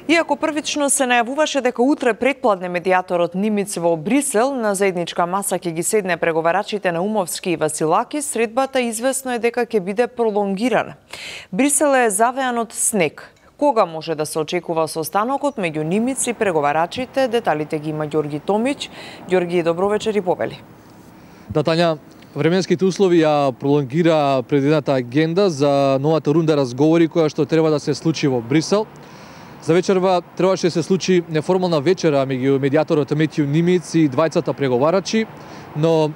Иако првично се најавуваше дека утре претпладне медијаторот Нимиц во Брисел на заедничка маса ќе ги седне преговарачите Наумовски и Василаки, средбата известно е дека ќе биде пролонгирана. Брисел е завеан од снег. Кога може да се очекува состанокот меѓу Нимиц и преговарачите? Деталите ги има Ѓорги Томич. Ѓорги, добро вечер и повели. Да, Тања, временските услови ја пролонгира предвидената агенда за новата рунда разговори која што треба да се случи во Брисел. За вечерва требаше да се случи неформална вечера меѓу медијаторот Метју Нимиц и двајцата преговарачи, но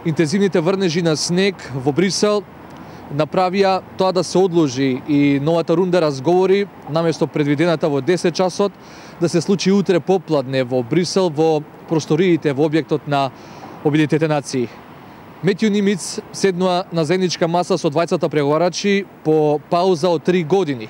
интензивните врнежи на снег во Брисел направија тоа да се одложи и новата рунда разговори наместо предвидената во 10 часот да се случи утре попладне во Брисел во просториите во објектот на Обединетите нации. Метју Нимиц седнува на заедничка маса со двајцата преговарачи по пауза од 3 години.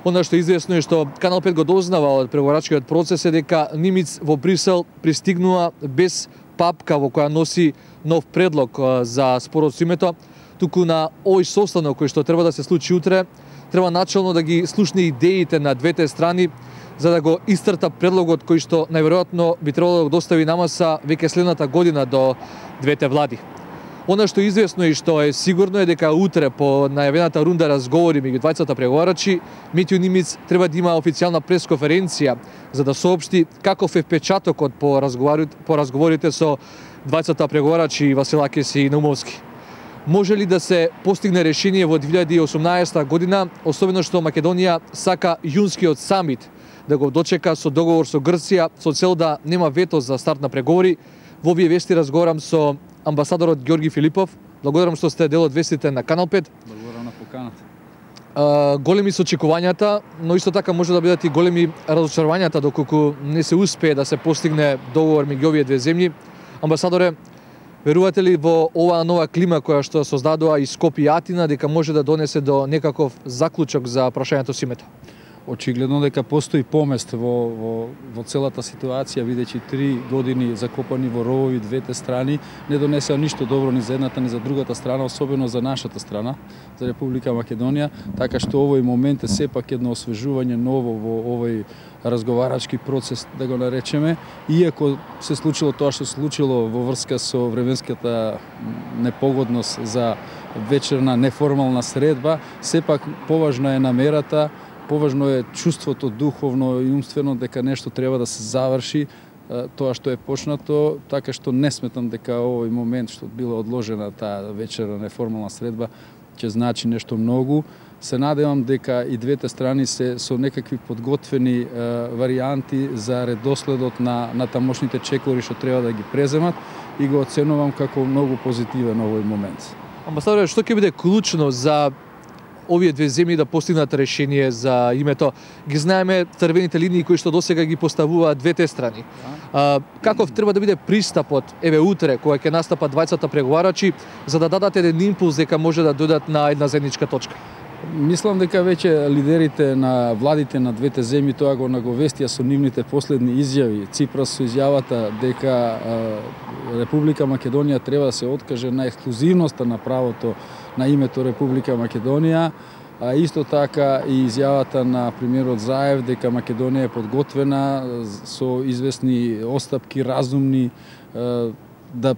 Она што е известно е што Канал 5 го дознава од преговарачкиот процес е дека Нимиц во Брисел пристигнува без папка во која носи нов предлог за спорот со името, туку на овој состанок кој што треба да се случи утре, треба начално да ги слушне идеите на двете страни за да го истрта предлогот кој што најверојатно би требало да го достави на маса веќе следната година до двете влади. Она што е известно и што е сигурно е дека утре по најавената рунда разговори меѓу двајцата преговарачи, Метју Нимиц треба да има официјална пресконференција за да соопшти каков е впечатокот по разговорите со двајцата преговарачи Василакис и Наумовски. Може ли да се постигне решение во 2018 година, особено што Македонија сака јунскиот самит да го дочека со договор со Грција со цел да нема вето за старт на преговори? Во овие вести разговарам со амбасадорот Ѓорги Филипов. Благодарам што сте дел од вестите на Канал 5. Благодарам на поканата. Големи се очекувањата, но исто така може да бидат и големи разочарувањата доколку не се успее да се постигне договор меѓу овие две земји. Амбасадоре, верувате ли во оваа нова клима која што создадува и Скопје и Атина дека може да донесе до некаков заклучок за прашањето со името? Очигледно дека постои помест во целата ситуација, бидејќи 3 години закопани во ровови двете страни не донесеа ништо добро ни за едната ни за другата страна, особено за нашата страна, за Република Македонија, така што овој момент е сепак едно освежување ново во овој разговарачки процес, да го наречеме, иако се случило тоа што се случило во врска со временската непогодност за вечерна неформална средба, сепак поважна е намерата, поважно е чувството духовно и умствено дека нешто треба да се заврши тоа што е почнато, така што не сметам дека овој момент што била одложена таа вечерна неформална средба ќе значи нешто многу. Се надевам дека и двете страни се со некакви подготвени варијанти за редоследот на тамошните чекори што треба да ги преземат и го оценувам како многу позитивен овој момент. Амбасадоре, што ќе биде клучно за овие две земји да постигнат решение за името? Ги знаеме црвените линии кои што досега ги поставуваат двете страни. Каков треба да биде пристапот еве утре кога ќе настапат двајцата преговарачи за да дадат еден импулс дека може да дојдат на една заедничка точка? Мислам дека веќе лидерите на владите на двете земји тоа го наговестија со нивните последни изјави. Ципрас со изјавата дека Република Македонија треба да се откаже на ексклузивноста на правото на името Република Македонија, а исто така и изјавата на премиерот Заев дека Македонија е подготвена со известни остапки разумни да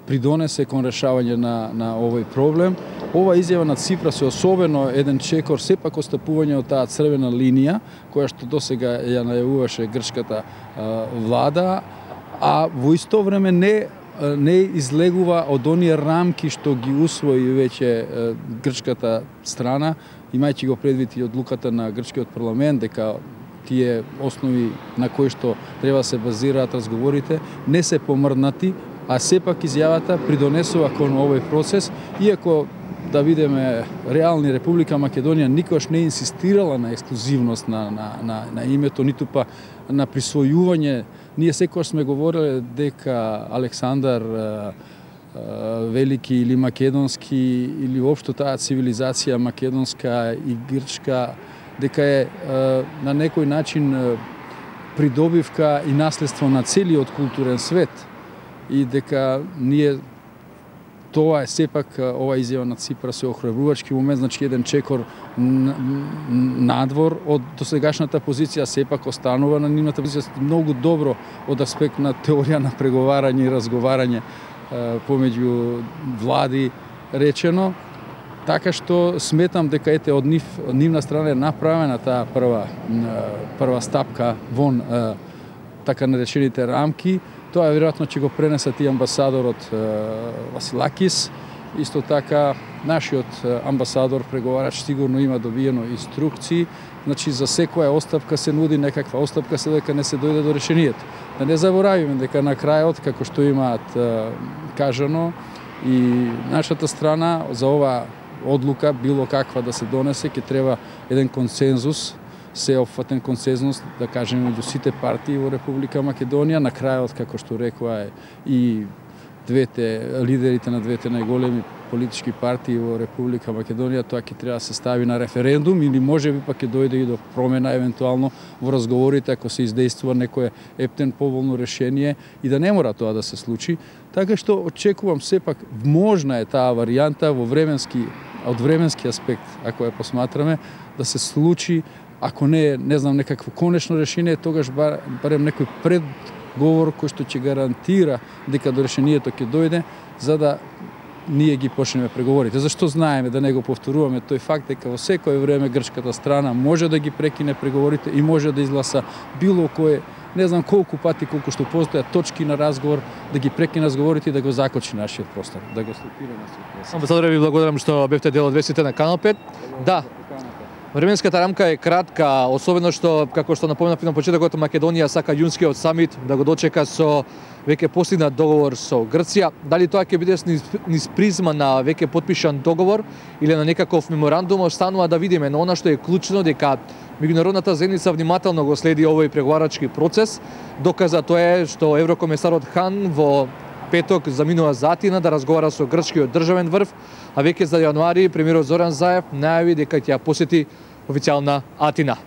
придонесе кон решавање на овој проблем. Ова изјава на Ципрас е особено еден чекор, сепак остапување од таа црвена линија која што досега ја најавуваше грчката влада, а во исто време не излегува од оние рамки што ги усвои веќе грчката страна, имајќи го предвид и одлуката на грчкиот парламент дека тие основи на кои што треба да се базираат разговорите не се помрднати, а сепак изјавата придонесува кон овој процес, иако да видиме реални, Република Македонија никош не инсистирала на ексклузивност на името, ниту па на присвојување. Ние секогаш сме говореле дека Александар Велики или македонски или општо таа цивилизација македонска и грчка дека е на некој начин придобивка и наследство на целиот културен свет и дека ние Тоа е сепак ова изјава на Ципрас е охрабрувачки момент, значи еден чекор надвор од досегашната позиција сепак останува на нивната позиција многу добро од аспект на теорија на преговарање и разговарање помеѓу влади речено. Така што сметам дека ете од нивна страна е направена таа прва стапка вон така наречените рамки. Тоа веројатно ќе го пренесат и амбасадорот Василакис. Исто така нашиот амбасадор преговарач сигурно има добиено инструкции. Значи за секоја оставка се нуди некаква оставка се дека не се дојде до решението. Да не заборавиме дека на крајот, како што имаат кажано, и нашата страна за ова одлука било каква да се донесе, ќе треба еден консензус, сеопфатен консензус, да кажеме, меѓу сите партии во Република Македонија. На крајот, како што рекоа и лидерите на двете најголеми политички партии во Република Македонија, тоа ќе треба да се стави на референдум или можеби пак ќе дојде и до промена евентуално во разговорите ако се издействува некое ептен поволно решение и да не мора тоа да се случи. Така што очекувам сепак можна е таа варијанта од временски аспект, ако ја посматраме, да се случи, ако не знам, некакво конечно решение, тогаш барем некој предговор кој што ќе гарантира дека до решението ќе дојде, за да ние ги почнеме преговорите. Зашто знаеме, да не го повторуваме тој факт дека во секое време грчката страна може да ги прекине преговорите и може да изгласа било кое, не знам колку пати, колку што постојат точки на разговор, да ги прекине разговорите и да го закочи нашиот простор, да го стопира нашиот простор. Амбасадоре, ви благодарам што бевте дел од вестите на Канал 5. Да, временската рамка е кратка, особено што, како што напоменав на почетокот, Македонија сака јунскиот самит да го дочека со веќе постигнат договор со Грција. Дали тоа ќе биде низ призма на веќе потпишан договор или на некаков меморандум, останува да видиме, но она што е клучно дека меѓународната заедница внимателно го следи овој преговарачки процес. Доказа тоа е што еврокомесарот Хан во петок заминува за Атина да разговара со грчкиот државен врв, а веќе за јануари премиерот Зоран Заев најави дека ќе ја посети официјална Атина.